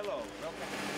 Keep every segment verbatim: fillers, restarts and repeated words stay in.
Hello, welcome.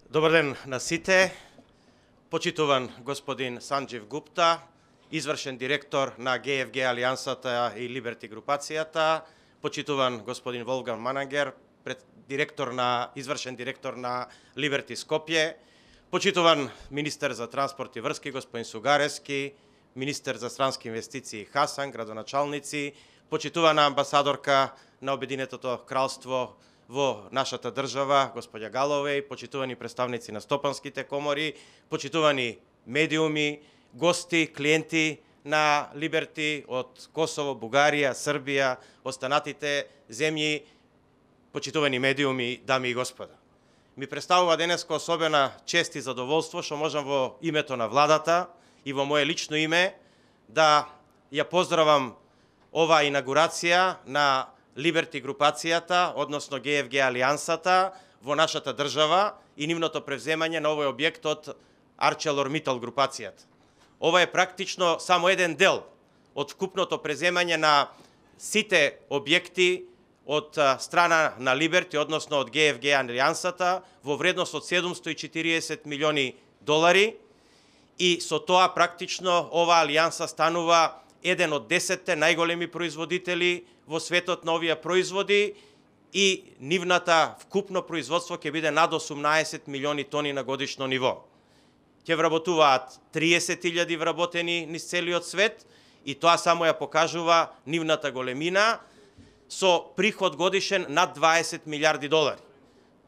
Добар ден на сите. Почитуван господин Санџив Гупта, извршен директор на Г Ф Г Алијансата и Либерти групацијата, почитуван господин Волфганг Манагер, пред директор на извршен директор на Либерти Скопје, почитуван министер за транспорт и врски господин Сугарески, министер за странски инвестиции Хасан, градоначалници, почитувана амбасадорка на Обединетото кралство во нашата држава, господја Галовеј, почитувани представници на стопанските комори, почитувани медиуми, гости, клиенти на Либерти од Косово, Бугарија, Србија, останатите земји, почитувани медиуми, дами и господа. Ми представува денеска особена чест и задоволство што можам во името на владата и во моje лично име да ја поздравам оваа инаугурација на Либерти групацијата, односно Г Ф Г Алијансата во нашата држава и нивното превземање на овој објект од ArcelorMittal групацијата. Ова е практично само еден дел од вкупното преземање на сите објекти од страна на Либерти, односно од Г Ф Г Алијансата, во вредност од седумсто и четириесет милиони долари, и со тоа практично оваа алијанса станува еден од десетте најголеми производители во светот на овие производи и нивната вкупно производство ќе биде над осумнаесет милиони тони на годишно ниво. Ќе вработуваат триесет илјади вработени низ целиот свет и тоа само ја покажува нивната големина со приход годишен над дваесет милиарди долари.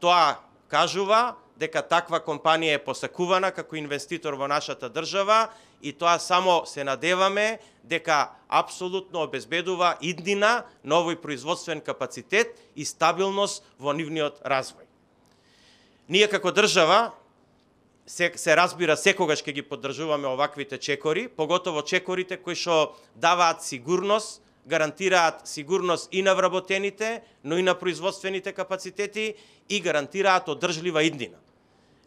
Тоа кажува дека таква компанија е посакувана како инвеститор во нашата држава и тоа само се надеваме дека апсолутно обезбедува иднина на овој производствен капацитет и стабилност во нивниот развој. Ние како држава се, се разбира секогаш ќе ги поддржуваме оваквите чекори, поготово чекорите кои што даваат сигурност, гарантираат сигурност и на вработените, но и на производствените капацитети и гарантираат одржлива иднина.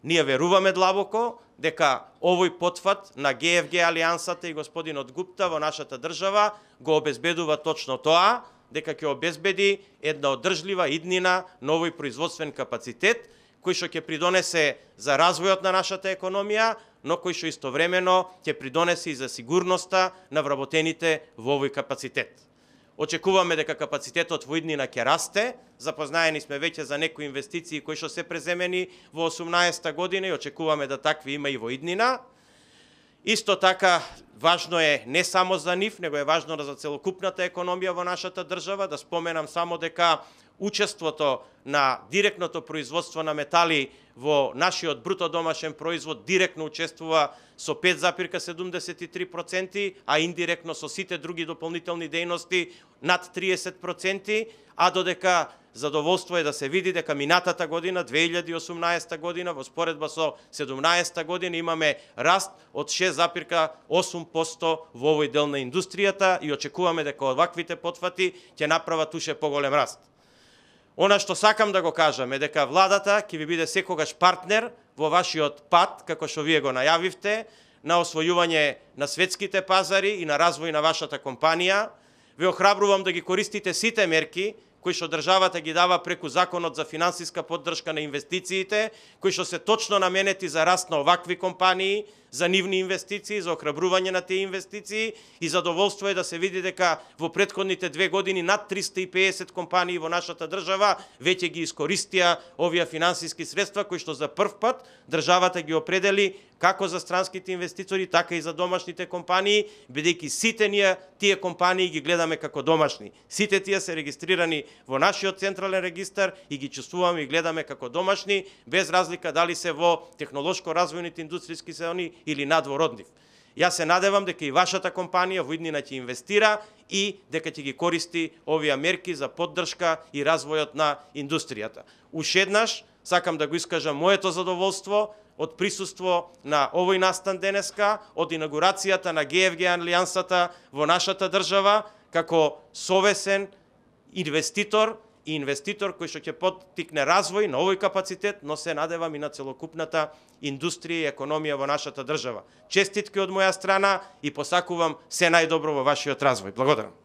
Ние веруваме длабоко дека овој потфат на Г Ф Г Алијансата и господинот Гупта во нашата држава го обезбедува точно тоа, дека ќе обезбеди една одржлива иднина на овој производствен капацитет, кој што ќе придонесе за развојот на нашата економија, но кој што истовремено ќе придонесе и за сигурноста на вработените во овој капацитет. Очекуваме дека капацитетот во иднина ќе расте, запознаени сме веќе за некои инвестиции кои што се преземени во осумнаесета година и очекуваме да такви има и во иднина. Исто така, важно е не само за нив, него е важно за целокупната економија во нашата држава, да споменам само дека учеството на директното производство на метали во нашиот бруто домашен производ директно учествува со пет запирка седумдесет и три проценти, а индиректно со сите други дополнителни дејности над триесет проценти, а додека задоволство е да се види дека минатата година, две илјади и осумнаесета година, во споредба со седумнаесета година, имаме раст од шест запирка осум проценти во овој дел на индустријата и очекуваме дека оваквите потфати ќе направат уште поголем раст. Она што сакам да го кажам е дека владата ќе ви биде секогаш партнер во вашиот пат, како што вие го најавивте, на освојување на светските пазари и на развој на вашата компанија. Ве охрабрувам да ги користите сите мерки кои што државата ги дава преку Законот за финансиска поддршка на инвестициите, кои што се точно наменети за раст на овакви компании, за нивни инвестиции, за охрабрување на тие инвестиции и задоволство е да се види дека во претходните две години над триста и педесет компании во нашата држава веќе ги искористија овие финансиски средства кои што за прв пат државата ги определи како за странските инвеститори, така и за домашните компании, бидејќи сите ние тие компании ги гледаме како домашни. Сите тие се регистрирани во нашиот централен регистар и ги чувствуваме и гледаме како домашни, без разлика дали се во технолошко развојните индустријски зони или надвор од нив. Јас се надевам дека и вашата компанија во иднина ќе инвестира и дека ќе ги користи овие мерки за поддршка и развојот на индустријата. Уште еднаш сакам да го искажам моето задоволство од присуство на овој настан денеска, од инаугурацијата на Г Ф Г Алијансата во нашата држава, како совесен инвеститор и инвеститор кој што ќе поттикне развој на овој капацитет, но се надевам и на целокупната индустрија и економија во нашата држава. Честитки од моја страна и посакувам се најдобро во вашиот развој. Благодарам.